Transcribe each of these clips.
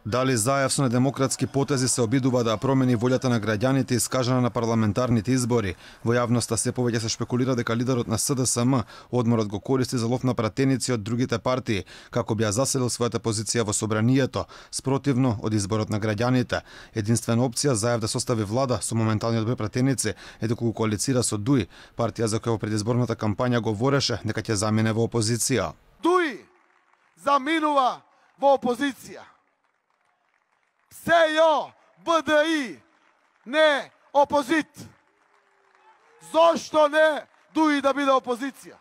Дали Заев со недемократски потези се обидува да промени волјата на граѓаните искажана на парламентарните избори. Во јавноста се повеќе се шпекулира дека лидерот на СДСМ одморот го користи за лов на пратеници од другите партии, како би ја заселил својата позиција во собранието, спротивно од изборот на граѓаните. Единствена опција Заев да состави влада со моменталниот број пратеници е дека го коалицира со ДУИ, партија за која во предизборната кампања говореше дека ќе замине во опозиција. ДУИ заминува во опозиција. СЈО, БДИ, не опозит. Зошто не ДУИ да биде опозиција?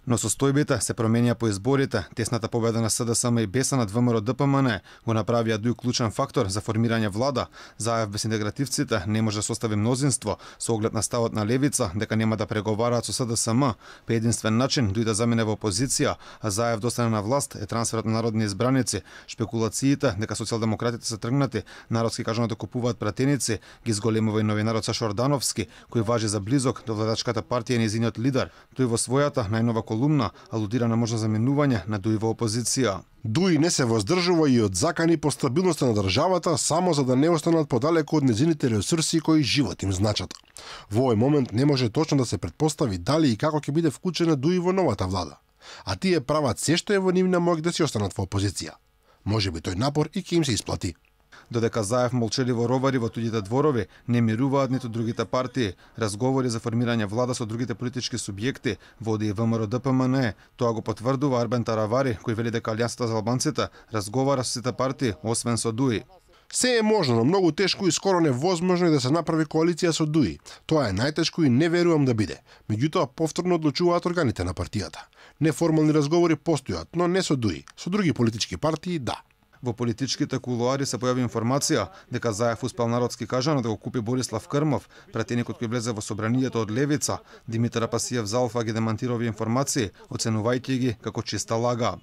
Но состојбите се променија по изборите. Тесната победа на СДСМ и БЕСА над ВМРО ДПМН го направија ДУИ клучен фактор за формирање влада. Заев без интегративците не може да состави мнозинство со оглед на ставот на левица дека нема да преговараат со СДСМ. По единствен начин ДУИ да замине во опозиција, а Заев да остане на власт е трансферот на народни избраници. Шпекулациите дека социјалдемократите се тргнати, народски кажано да купуваат пратеници, ги зголемува и новинарот Сашо Ордановски, кој важи за близок до владачката партија и нејзиниот лидер. Тој во својата најнова колумна алудира на можно заминување на ДУИ во опозиција. ДУИ не се воздржува и од закани по стабилноста на државата само за да не останат подалеку од нејзините ресурси кои живот им значат. Во овој момент не може точно да се претпостави дали и како ќе биде вклучена ДУИ во новата влада. А тие прават се што е во нивна моќ да си останат во опозиција. Можеби тој напор и ќе им се исплати. Додека Заев молчеливо ровари во туѓите дворови, не мируваат ниту другите партии. Разговори за формирање влада со другите политички субјекти води и ВМРО ДПМН. Тоа го потврдува Арбен Таравари, кој вели дека Алијансата за албанците разговара со сите партии, освен со ДУИ. Се е можно, но многу тешко и скоро невозможно е да се направи коалиција со ДУИ. Тоа е најтешко и не верувам да биде. Меѓутоа, повторно одлучуваат органите на партијата. Неформални разговори постојат, но не со ДУИ. Со други политички партии, да. Во политичките кулуари се појави информација дека Заев успел народски кажано да го купи Борислав Крмов, пратеникот кој влезе во собранието од левица. Димитар Апасиев за Алфа ги демантира овие информации, оценувајќи ги како чиста лага.